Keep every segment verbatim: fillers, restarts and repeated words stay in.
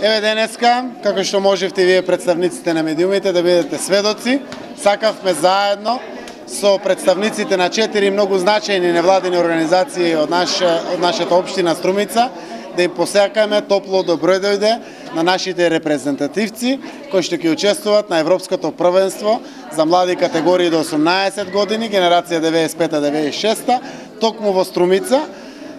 Еве денеска, како што можевте вие представниците на медиумите да бидете сведоци, сакавме заедно со представниците на четири многу значајни невладини организации од наша од нашата општина Струмица да им посакаме топло добро дојде на нашите репрезентативци кои што ќе учествуваат на Европското првенство за млади категории до осумнаесет години, генерација деветдесет и пета деветдесет и шеста, токму во Струмица.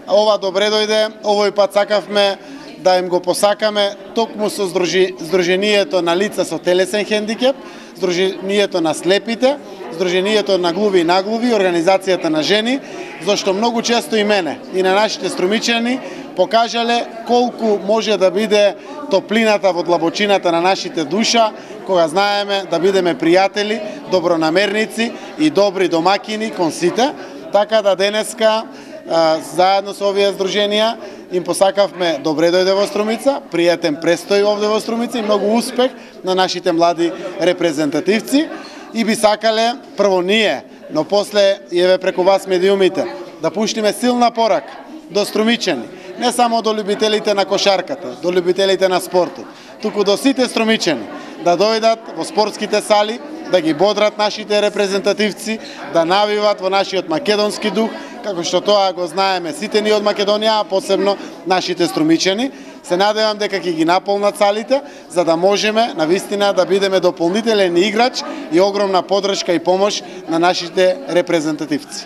Ова добре дојде, овој пат сакавме да им го посакаме токму со Сдруженијето на лица со телесен хендикеп, Сдруженијето на слепите, Сдруженијето на глуви и наглуви, Организацијата на жени, зашто многу често и мене и на нашите струмичани покажале колку може да биде топлината во длабочината на нашите душа, кога знаеме да бидеме пријатели, добронамерници и добри домакини кон сите, така да денеска заедно со овие здруженија им посакавме добре дојде во Струмица, пријатен престој овде во Струмица и многу успех на нашите млади репрезентативци и би сакале прво ние, но после и еве преку вас медиумите да пуштиме силна порака до струмичани, не само до љубителите на кошарката, до љубителите на спортот, туку до сите струмичани да дојдат во спортските сали, да ги бодрат нашите репрезентативци, да навиват во нашиот македонски дух, како што тоа го знаеме сите ние од Македонија, а посебно нашите струмичани. Се надевам дека ќе ги наполнат салите, за да можеме навистина да бидеме дополнителен играч и огромна поддршка и помош на нашите репрезентативци.